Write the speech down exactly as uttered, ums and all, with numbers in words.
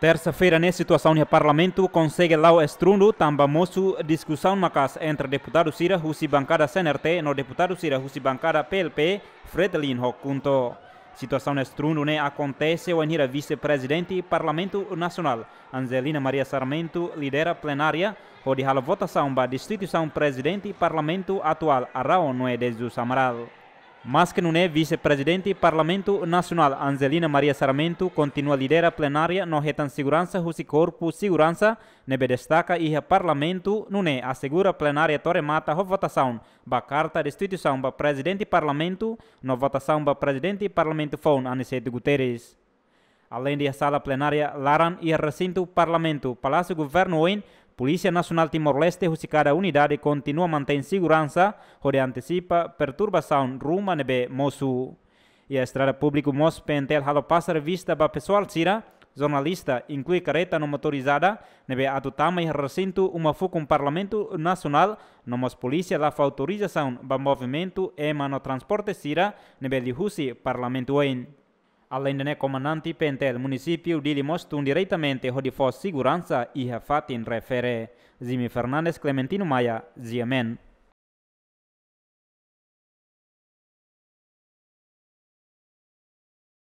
Tersa-feira ne'e situasaun iha Parlamentu konsege la'o estrundu tanba mosu diskusaun maka'as entre deputadu sira husi bankada C N R T no deputadu sira husi bankada P L P, Fretilin ho KHUNTO. Situasaun estrundu ne'e akontese wainhira Vise-Prezidente Parlamentu Nasionál, Angelina Maria Sarmento, lidera plenária hodi halo votasaun ba destituisaun Prezidente Parlamentu atuál, Araújo Nuno de Jesus Amaral. Maske nune'e, Vise-Prezidente Parlamentu Nasionál, Angelina Maria Sarmento, kontinua lidera plenária no hetan seguransa husi korpu seguransa ne'ebé destaka iha Parlamentu, nune'e asegura plenária to'o remata ho votasaun ba karta destituisaun ba Prezidente Parlamentu no votasaun ba Prezidente Parlamentu foun, Aniceto Guterres. Aleinde iha sala plenária laran, iha resintu Parlamentu, Palásiu Governu oin, Polísia Nasionál Timor-Leste husi kada unidade kontinua mantein seguransa hodi antesipa perturbasaun ruma ne'ebé mosu. Iha estrada públiku mós P N T L halo pasar revista ba pesoál sira, jornalista, inklui karreta no motorizada, ne'ebé atu tama iha resintu uma fukun Parlamentu Nasionál, no mós polísia la fó autorizasaun ba movimentu ema no transporte sira ne'ebé liuhusi Parlamentu oin. Aleinde ne'e, komandante P N T L munisípiu Dili mós tun diretamente hodi fó seguransa iha fatin refere. Jimmy Fernandes, Clementino Maia, G M N.